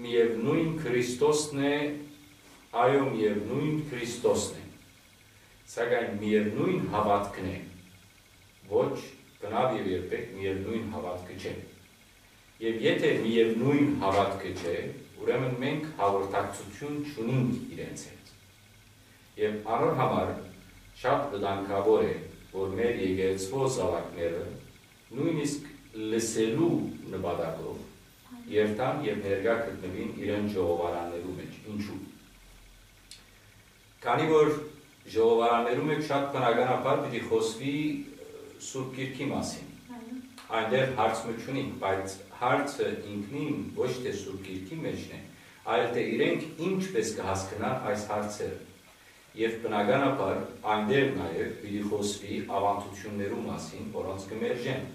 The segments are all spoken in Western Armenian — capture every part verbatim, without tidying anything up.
միևնոյն Քրիստոսն է, այո, միևնոյն Քրիստոսն է, սակայն միևնոյն հաւատքն է, ոչ, բնաւ եւ երբեք միևնոյն հաւատքը չէ։ Եւ եթէ միևնոյն հաւատքը չէ, ուրեմն մենք հաղորդակցութիւն չունինք իրենց հետ։ Եւ անոր համար շատ վտանգաւոր է, որ մեր եկեղեցւոյ զաւակները նոյնիսկ լսելու նպատակով երթան եւ ներկայ գտնուին իրենց ժողովարաններու մէջ։ Ինչու՞։ Քանի որ ժողովարաններու մէջ շատ բնականաբար պիտի խօսուի, ը, Սուրբ Գիրքի մասին։ Այնտեղ հարց մը չունինք, բայց հարցը ինքնին ոչ թէ Սուրբ Գիրքի մէջն է, այլ թէ իրենք ինչպէս կը հասկնան այս հարցերը։ Եւ բնականաբար այնտեղ նաեւ պիտի խօսուի աւանդութիւններու մասին, որոնց կը մերժեն։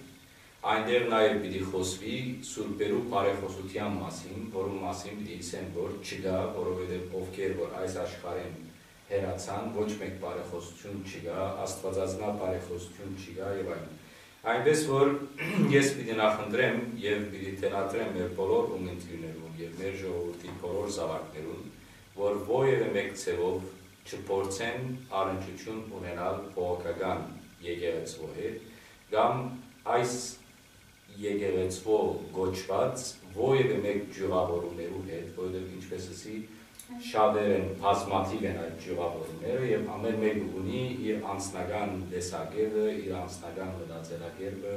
Այնտեղ նաեւ պիտի խօսուի սուրբերու բարեխօսութեան մասին, որուն մասին պիտի ըսեն, որ չկայ, որովհետեւ ովքեր որ այս աշխարհէն հեռացան, ոչ մէկ բարեխօսութիւն չկայ, աստուածածնայ բարեխօսութիւն չկայ եւ այլն։ Այնպէս որ ես պիտի նախընտրեմ եւ պիտի թելադրեմ մեր բոլոր ունգընտիրներուն եւ մեր ժողովրդի բոլոր զաւակներուն, որ որեւէ մէկ ձեւով չփորձեն առնչութիւն ունենալ բողոքական եկեղեցւոյ հետ կամ այս եկեղեցւոյ կոչուած որեւէ մէկ ճիւղաւորումներու հետ, որովհետեւ, ինչպէս ըսի, շատեր են, բազմաթիւ են այդ ճիւղաւորումները եւ ամէն մէկը ունի իր անձնական տեսակետը, իր անձնական մտածելակերպը,